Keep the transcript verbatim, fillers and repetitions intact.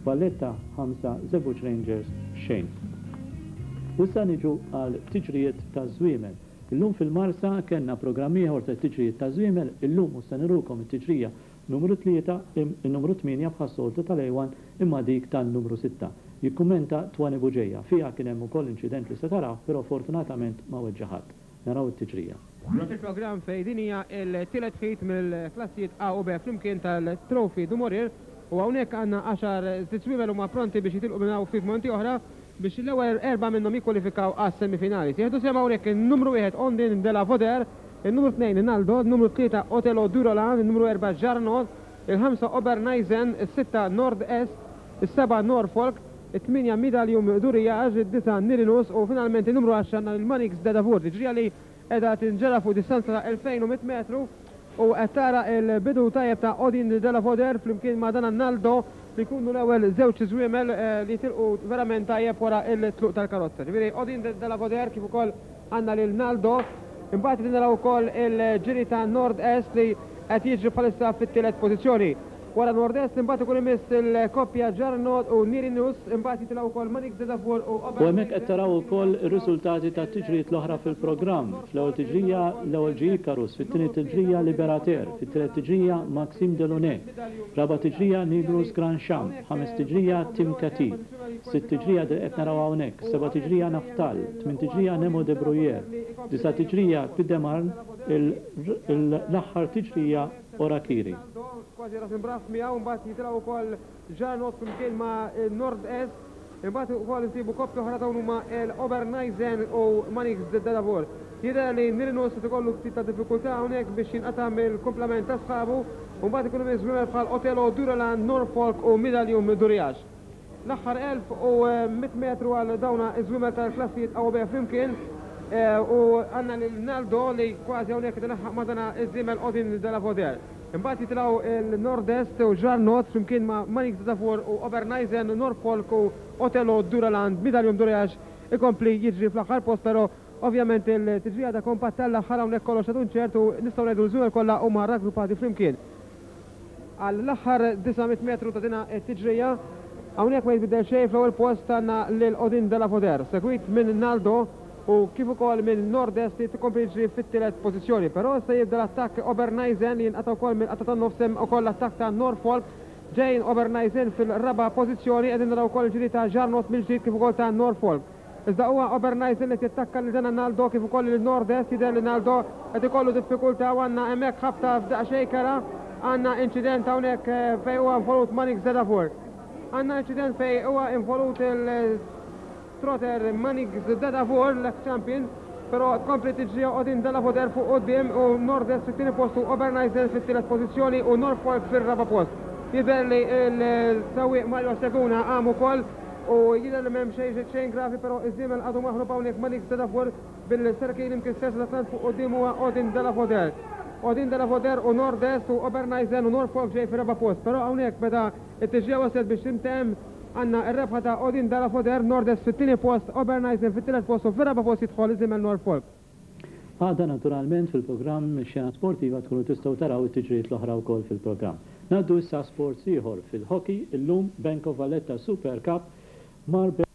Valletta ħamsa, Żebbuġ Rangers xejn. U issa niġu għal tiġrijiet ta' żwiemel. Illum fil-Marsa kellna programm ieħor ta' tiġrijiet ta' żwiemel, illum mhux se nurukom it-tiġrija numru tlieta, il-numru tmienja bħas-soltu tal-A one, imma dik tan-numru sitta. Jikkummenta Twani Buġeja. Fiha kien hemm ukoll inċident li se taraw, però fortunatament ma weġġa' ħadd. Naraw it-tiġrija. Il-programm fejn din hija l-tielet heat mill-klassijiet A u B flimkien tal-Trophée du Maurier u hawnhekk għandna għaxar żwiemel huma pronti biex jitilqu minn hawn ftit momenti oħra biex l-ewwel erba' minnhom jikkwalifikaw għas-semifinali. Se jieħdu sehem hawnhekk in-numru wieħed Ondin de la Voder, in-numru tnejn Naldo, in-numru tlieta Otelo Durolan, in-numru erba' Jarnot, il-ħamsa Oberneisen, is-sitta Nord Est, is-seba' Norfolk, it-tmienja Midalium Duriage, id-disa' Nirinus u finalment in-numru għaxra il-Manix de Davur. Tiġrija li qiegħda tinġera fuq distanza ta' elfejn u mitt metru u qed tara il-bidu tajjeb ta' Odin de la Voder flimkien ma' dan Naldo li jkunu l-ewwel żewġ żwiemel li tilqu verament tajjeb wara il-tluq tal-karozza. Ġifieri Odin de la Voder kif ukoll għandna lil Naldo. Imbagħad li naraw ukoll il-ġiri ta' Nord Est li qed jiġri bħalissa fit-tielet pożizzjoni. Wara Nord Est imbagħad ikun imiss il-koppja Jarnot u Nirinus, imbagħad jitilgħu wkoll Manix de Davur u U hemmhekk qed taraw ukoll ir-riżultati tat-tiġrijiet l-oħra fil-programm. Fl-ewwel tiġrija l-ewwel ġie Icarus, fit-tieni tiġrija Liberater, fit-tielet tiġrija Maxime Delaunay, raba' tiġrija Nigrus Grand Champ, ħames tiġrija Tim Kati, sitt tiġrija qed naraw hawnhekk, seba' tiġrija Naftal, tmien tiġrija Nemo de Bruyere, disa' tiġrija Pidemarn, l-aħħar tiġrija Orakiri. Kważi ras imbraf miegħu, mbagħad jitilgħu wkoll Jarnot flimkien ma' Nord Est, imbagħad ukoll insibu koppja oħra dawn huma l-Oberneisen u Manix de Davur. Jidher li Nirinus qed ikollu ftit ta' diffikultà hawnhekk biex jinqata' mill-kumplament ta' sħabu, u mbagħad ikunu miżmumel bħal Otelo Duralan, Norfolk u Midalium Duriage. L-aħħar elf u mitt metru għal dawna iż-żwiemel tal-klassijiet A u B flimkien, u għandna lil Naldo li kważi hawnhekk qed ilaħħaq ma' dana iż-żiemel Odin de la Voder. Imbagħad jitilgħu il-Nord-Est u Jarnot flimkien ma' Manix de Davur u Oberneisen, Norfolk u Otelo Duraland, Midalium Duriage ikompli jiġri fl-aħħar post, però ovvjament il-tiġrija ta' kompatt tal-aħħar hawnhekk kollox għadu ċert u nistgħu ngħidu l-żwiemel kollha huma raggruppati flimkien. Għall-aħħar disa' mitt metru ta' dina t-tiġrija hawnhekk ma jitbidel xejn, fl-ewwel post għandna lil Odin de la Voder, segwit minn Naldo u kif ukoll minn Nord-Est li tkompli jiġri fit-tielet pożizzjoni. Però se jibda l-attakk Oberneisen li jinqata' wkoll mill-qata tan-nofs, hemm ukoll l-attakk ta' Norfolk. Ġejn Oberneisen fil-raba' pożizzjoni, qegħdin naraw ukoll il-ġiri ta' Jarnot mill-ġdid kif ukoll ta' Norfolk. Iżda huwa Oberneisen li jattakka lil dan Naldo kif ukoll lil Nord-Est, jidher li Naldo qed ikollu diffikultà u għandna hemmhekk ħabta f'daqsxejn kera, għandna inċident hawnhekk fejn huwa involut Manix de Davur. Għandna inċident fejn huwa involut il-trotter Manix de Davur, l-ex-champion, però tkompli tiġri Odin de la Voder fuq quddiem u Nord-Est fit-tieni post u Oberneisen fit-tielet pożizzjoni u Norfolk fir-raba' post. Jidher li l-sewwieq Mario Seguna qam ukoll u jidher li m'hemm xejn xejn gravi, però iż-żiemel għadu maħrub hawnhekk Manix de Davur bil-serkin imkisser sa tant fuq quddiem huwa Odin de la Voder. Odin de la Voder u Nord-Est u Oberneisen u Norfolk ġej fir-raba' post, però hawnhekk meta t-tiġrija waslet biex tintemm għandna r-rebħa ta' Odin de la Voder, Nord-Est fit-tieni post, Oberneisen fit-tielet post u fir-raba' post jidħol iż-żiemel Norfolk. Għada naturalment fil-programm Xena Sportiva tkunu tistgħu taraw it-tiġrijiet l-oħra wkoll fil-programm. Ngħaddu issa sports ieħor fil-hockey, illum Bank of Valletta Super Cup Marbella.